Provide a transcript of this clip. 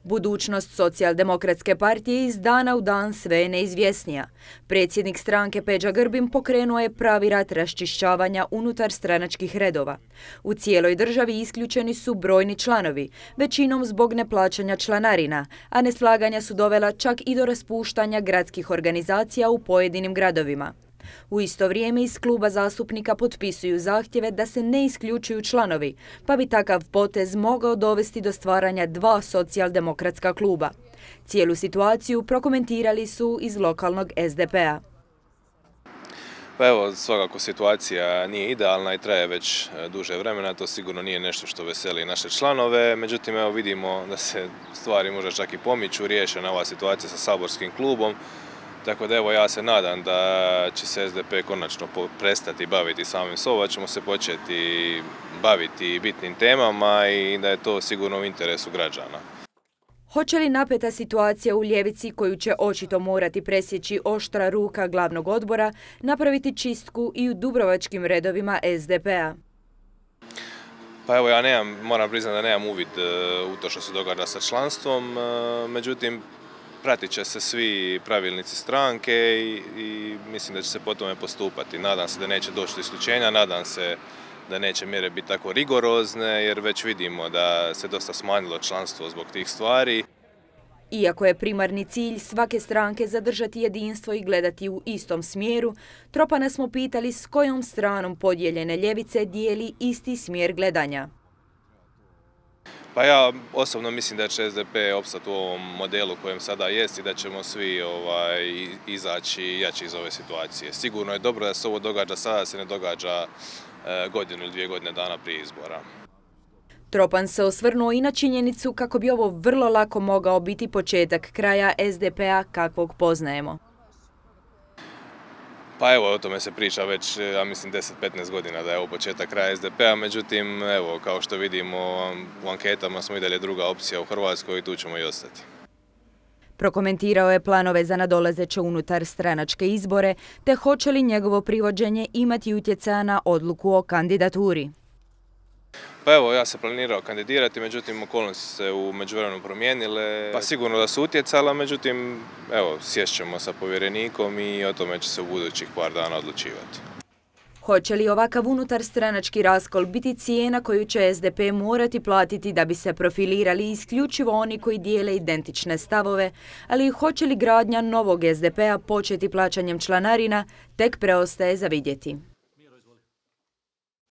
Budućnost Socijaldemokratske partije iz dana u dan sve je neizvjesnija. Predsjednik stranke Peđa Grbin pokrenuo je pravi rat raščišćavanja unutar stranačkih redova. U cijeloj državi isključeni su brojni članovi, većinom zbog neplaćanja članarina, a neslaganja su dovela čak i do raspuštanja gradskih organizacija u pojedinim gradovima. U isto vrijeme iz kluba zastupnika potpisuju zahtjeve da se ne isključuju članovi, pa bi takav potez mogao dovesti do stvaranja dva socijaldemokratska kluba. Cijelu situaciju prokomentirali su iz lokalnog SDP-a. Pa evo, svakako situacija nije idealna i traje već duže vremena, to sigurno nije nešto što veseli naše članove, međutim evo vidimo da se stvari možda čak i pomiču, riješena ova situacija sa saborskim klubom. Tako da evo ja se nadam da će se SDP konačno prestati baviti samim sobom, da ćemo se početi baviti bitnim temama i da je to sigurno u interesu građana. Hoće li napeta situacija u ljevici, koju će očito morati presjeći oštra ruka glavnog odbora, napraviti čistku i u dubrovačkim redovima SDP-a? Pa evo ja moram priznati da nemam uvid u to što se događa sa članstvom, međutim pratit će se svi pravilnici stranke i mislim da će se po tome postupati. Nadam se da neće doći do isključenja, nadam se da neće mjere biti tako rigorozne jer već vidimo da se dosta smanjilo članstvo zbog tih stvari. Iako je primarni cilj svake stranke zadržati jedinstvo i gledati u istom smjeru, Tropana smo pitali s kojom stranom podijeljene ljevice dijeli isti smjer gledanja. Pa ja osobno mislim da će SDP opstati u ovom modelu kojem sada jest i da ćemo svi izaći jači iz ove situacije. Sigurno je dobro da se ovo događa sada, da se ne događa godinu ili 2 godine dana prije izbora. Tropan se osvrnuo i na činjenicu kako bi ovo vrlo lako mogao biti početak kraja SDP-a kakvog poznajemo. Pa evo, o tome se priča već, ja mislim, 10-15 godina da je ovo početak kraja SDP-a, međutim, evo, kao što vidimo, u anketama smo i dalje druga opcija u Hrvatskoj i tu ćemo i ostati. Prokomentirao je planove za nadolazeće unutar stranačke izbore, te hoće li njegovo privođenje imati utjecaja na odluku o kandidaturi. Pa evo, ja se planirao kandidirati, međutim, okolnosti se u međuvremenu promijenile. Pa sigurno da su utjecala, međutim, evo, sješćemo sa povjerenikom i o tome će se u budućih par dana odlučivati. Hoće li ovakav unutar stranački raskol biti cijena koju će SDP morati platiti da bi se profilirali isključivo oni koji dijele identične stavove, ali hoće li gradnja novog SDP-a početi plaćanjem članarina, tek preostaje za vidjeti.